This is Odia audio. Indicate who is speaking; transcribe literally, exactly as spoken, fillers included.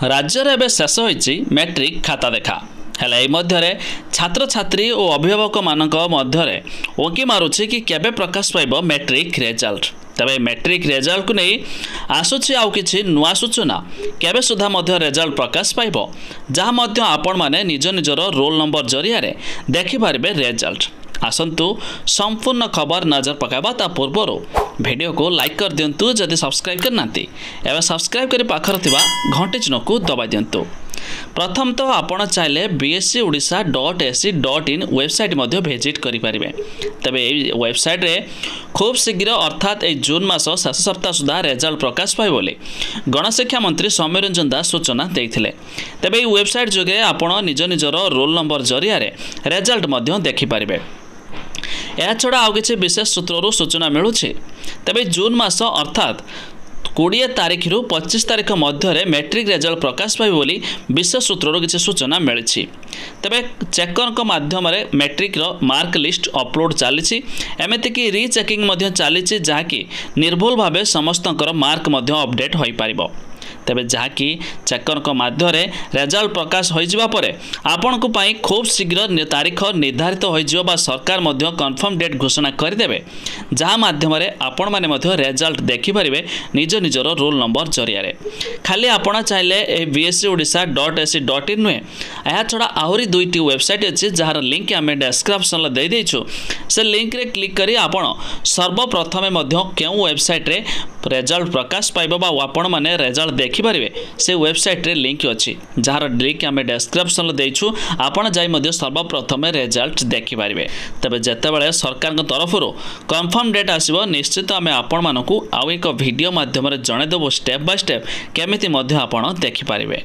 Speaker 1: ରାଜ୍ୟରେ ଏବେ ଶେଷ ହୋଇଛି ମେଟ୍ରିକ୍ ଖାତା ଦେଖା। ହେଲେ ଏହି ମଧ୍ୟରେ ଛାତ୍ରଛାତ୍ରୀ ଓ ଅଭିଭାବକମାନଙ୍କ ମଧ୍ୟରେ ଉଙ୍କି ମାରୁଛି କି କେବେ ପ୍ରକାଶ ପାଇବ ମେଟ୍ରିକ୍ ରେଜଲ୍ଟ। ତେବେ ମେଟ୍ରିକ୍ ରେଜଲ୍ଟକୁ ନେଇ ଆସୁଛି ଆଉ କିଛି ନୂଆ ସୂଚନା। କେବେ ସୁଦ୍ଧା ମଧ୍ୟ ରେଜଲ୍ଟ ପ୍ରକାଶ ପାଇବ, ଯାହା ମଧ୍ୟ ଆପଣମାନେ ନିଜ ନିଜର ରୋଲ୍ ନମ୍ବର ଜରିଆରେ ଦେଖିପାରିବେ ରେଜଲ୍ଟ। ଆସନ୍ତୁ ସମ୍ପୂର୍ଣ୍ଣ ଖବର ନଜର ପକାଇବା। ତା ପୂର୍ବରୁ ଭିଡ଼ିଓକୁ ଲାଇକ୍ କରିଦିଅନ୍ତୁ। ଯଦି ସବସ୍କ୍ରାଇବ୍ କରିନାହାନ୍ତି, ଏବେ ସବସ୍କ୍ରାଇବ୍ କରି ପାଖରେ ଥିବା ଘଣ୍ଟି ଚିହ୍ନକୁ ଦବାଇ ଦିଅନ୍ତୁ। ପ୍ରଥମତଃ ଆପଣ ଚାହିଁଲେ B S E Odisha dot A C dot in website ମଧ୍ୟ ଭିଜିଟ୍ କରିପାରିବେ। ତେବେ ଏହି ୱେବସାଇଟ୍ରେ ଖୁବ୍ ଶୀଘ୍ର, ଅର୍ଥାତ୍ ଏହି ଜୁନ୍ ମାସ ଶେଷ ସପ୍ତାହ ସୁଦ୍ଧା ରେଜଲ୍ଟ ପ୍ରକାଶ ପାଇବ ବୋଲି ଗଣଶିକ୍ଷା ମନ୍ତ୍ରୀ ସୌମ୍ୟରଞ୍ଜନ ଦାସ ସୂଚନା ଦେଇଥିଲେ। ତେବେ ଏହି ୱେବସାଇଟ୍ ଯୋଗେ ଆପଣ ନିଜ ନିଜର ରୋଲ୍ ନମ୍ବର ଜରିଆରେ ରେଜଲ୍ଟ ମଧ୍ୟ ଦେଖିପାରିବେ। ଏହାଛଡ଼ା ଆଉ କିଛି ବିଶେଷ ସୂତ୍ରରୁ ସୂଚନା ମିଳୁଛି। ତେବେ ଜୁନ୍ ମାସ ଅର୍ଥାତ୍ କୋଡ଼ିଏ ତାରିଖରୁ ପଚିଶ ତାରିଖ ମଧ୍ୟରେ ମେଟ୍ରିକ୍ ରେଜଲ୍ଟ ପ୍ରକାଶ ପାଇବ ବୋଲି ବିଶେଷ ସୂତ୍ରରୁ କିଛି ସୂଚନା ମିଳିଛି। ତେବେ ଚେକରଙ୍କ ମାଧ୍ୟମରେ ମେଟ୍ରିକ୍ର ମାର୍କ ଲିଷ୍ଟ ଅପଲୋଡ଼ ଚାଲିଛି, ଏମିତିକି ରିଚେକିଂ ମଧ୍ୟ ଚାଲିଛି, ଯାହାକି ନିର୍ଭୁଲ ଭାବେ ସମସ୍ତଙ୍କର ମାର୍କ ମଧ୍ୟ ଅପଡେଟ୍ ହୋଇପାରିବ। ତେବେ ଯାହାକି ଚେକରଙ୍କ ମାଧ୍ୟମରେ ରେଜଲ୍ଟ ପ୍ରକାଶ ହୋଇଯିବା ପରେ ଆପଣଙ୍କ ପାଇଁ ଖୁବ୍ ଶୀଘ୍ର ତାରିଖ ନିର୍ଦ୍ଧାରିତ ହୋଇଯିବ ବା ସରକାର ମଧ୍ୟ କନଫର୍ମ ଡେଟ୍ ଘୋଷଣା କରିଦେବେ, ଯାହା ମାଧ୍ୟମରେ ଆପଣମାନେ ମଧ୍ୟ ରେଜଲ୍ଟ ଦେଖିପାରିବେ ନିଜ ନିଜର ରୋଲ୍ ନମ୍ବର ଜରିଆରେ। ଖାଲି ଆପଣ ଚାହିଁଲେ ଏହି B S E Odisha dot A C dot in ନୁହେଁ, ଏହାଛଡ଼ା ଆହୁରି ଦୁଇଟି ୱେବସାଇଟ୍ ଅଛି, ଯାହାର ଲିଙ୍କ୍ ଆମେ ଡେସ୍କ୍ରିପ୍ସନ୍ରେ ଦେଇଦେଇଛୁ। ସେ ଲିଙ୍କରେ କ୍ଲିକ୍ କରି ଆପଣ ସର୍ବପ୍ରଥମେ ମଧ୍ୟ କେଉଁ ୱେବସାଇଟ୍ରେ ରେଜଲ୍ଟ ପ୍ରକାଶ ପାଇବ ବା ଆପଣମାନେ ରେଜଲ୍ଟ ଦେଖିପାରିବେ, ସେ ୱେବସାଇଟ୍ରେ ଲିଙ୍କ୍ ଅଛି, ଯାହାର ଲିଙ୍କ୍ ଆମେ ଡେସ୍କ୍ରିପ୍ସନ୍ରେ ଦେଇଛୁ। ଆପଣ ଯାଇ ମଧ୍ୟ ସର୍ବପ୍ରଥମେ ରେଜଲ୍ଟ ଦେଖିପାରିବେ। ତେବେ ଯେତେବେଳେ ସରକାରଙ୍କ ତରଫରୁ କନଫର୍ମ ଡେଟ୍ ଆସିବ, ନିଶ୍ଚିତ ଆମେ ଆପଣମାନଙ୍କୁ ଆଉ ଏକ ଭିଡ଼ିଓ ମାଧ୍ୟମରେ ଜଣାଇଦେବୁ ଷ୍ଟେପ୍ ବାଇ ଷ୍ଟେପ୍ କେମିତି ମଧ୍ୟ ଆପଣ ଦେଖିପାରିବେ।